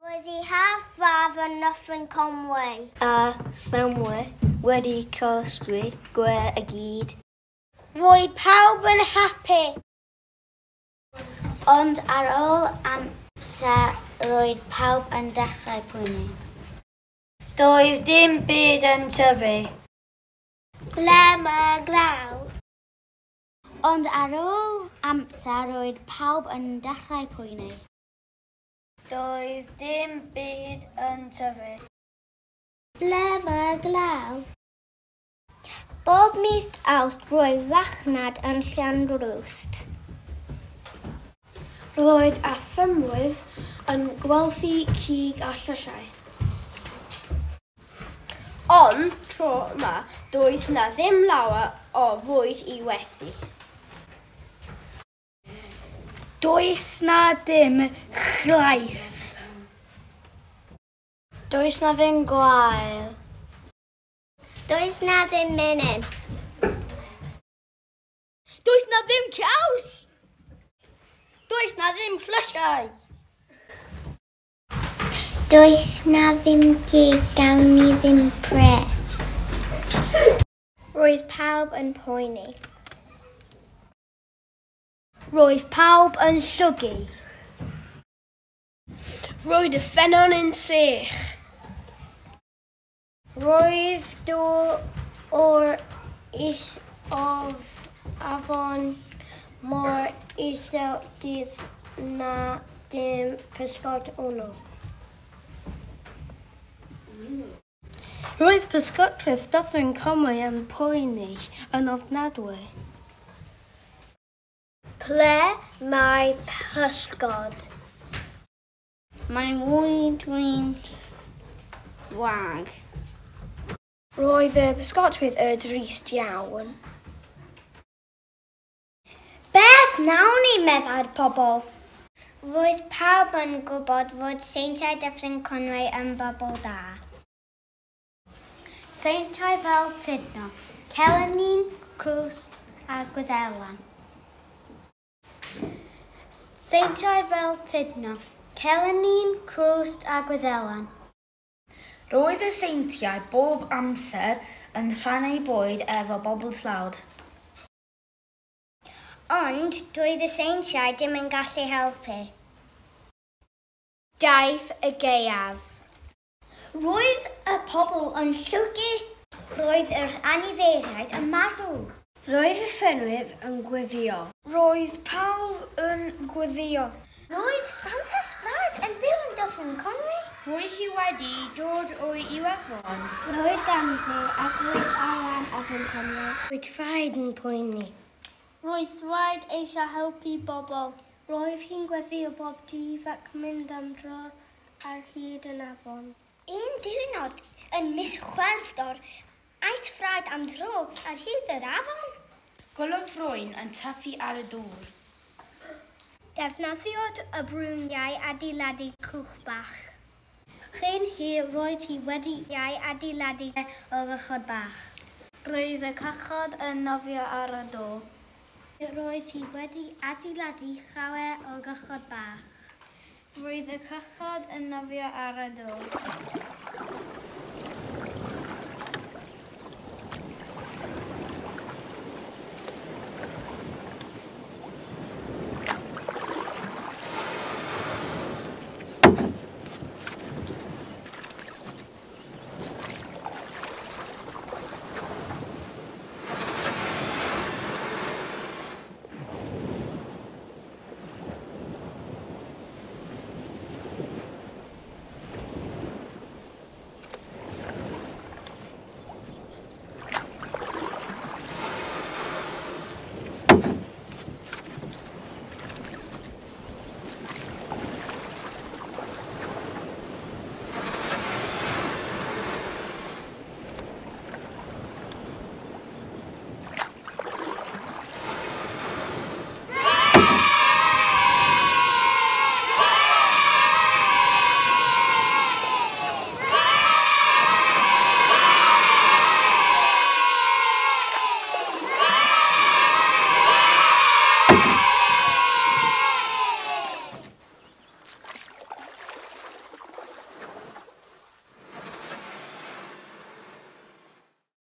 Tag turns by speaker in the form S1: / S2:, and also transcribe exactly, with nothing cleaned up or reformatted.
S1: Roedd hi haf braf yn Nyffryn Conwy.
S2: A ffermwyr wedi casglu gwe i gyd.
S1: Roedd pawb yn hapus.
S3: Ond ar ôl amser roedd pawb yn dechrau poeni.
S4: Doedd dim byd yn tyfu.
S1: Ble mae glaw?
S3: Ond ar ôl amser roedd pawb yn dechrau poeni.
S4: Doedd dim byd yn tyfu.
S1: Ble mae glaw? Bob mis Awst roedd farchnad yn Llanrwst.
S5: Roedd y ffermwyr yn gwerthu cig a llysiau.
S6: Ond tro yma, doedd na ddim lawer o fwyd i werthu.
S5: Does na dim llaeth.
S3: Does na ddim gwael.
S1: Does na ddim menyn.
S6: Does na ddim caws. Does na ddim llysiau.
S1: Does na ddim cig, gawn ni ddim pres.
S5: Roedd pawb yn poeni. Roedd pawb yn llwgu.
S6: Roedd y ffynnon yn sych.
S5: Roedd dŵr o'r is of afon mor isel dydd na dim pysgod yno.
S2: Roedd pysgotwyr Dyffryn Conwy yn poeni yn ofnadwy.
S1: Ble mae pysgod?
S3: Mae mwydwy'n wag.
S5: Roedd y pysgotwyr yn drist iawn.
S1: Beth nawn ni, meddai'r pobl? Roedd pawb yn gwybod fod seintiau Dyffryn Conwy yn bobl da.
S3: Seintiau fel Tudno, Celannin, Crwst a Gwyddelan. Seintiau fel Tudno, Celannin, Crwst a Gwyddelan.
S7: Roedd y seintiau bob amser yn rhannu bwyd efo bobl tlawd.
S1: Ond doedd y seintiau dim yn gallu helpu. Daeth y gaeaf. Roedd y pobl yn llwgu. Roedd yr anifeiliaid yn marw.
S5: Roedd y ffermwyr yn gweddïo. Roedd pawb yn gweddïo.
S1: Roedd Santes Ffraid yn byw yn Dyffryn Conwy.
S6: Roedd hi wedi dod o Iwerddon.
S1: Roedd ganddi eglwys ar Afon Conwy.
S5: Roedd Ffraid yn poeni.
S8: Roedd Ffraid eisiau helpu bobl. Roedd hi'n gweddïo bob dydd ac mynd am dro ar hyd yn afon.
S1: Un diwrnod yn mis Chwefror, aeth Ffraid am dro ar hyd yr afon.
S7: Gwelodd frwyn yn tyfu ar y dŵr.
S1: Defnyddiodd y brwyniau adeiladu cwch bach.
S3: Chyn hir roedd hi wedi adeiladu o gychod bach.
S4: Roedd y cychod yn nofio ar y dŵr.
S3: Roedd hi wedi adeiladu llawer o gychod bach.
S4: Roedd y cychod yn nofio ar y dŵr.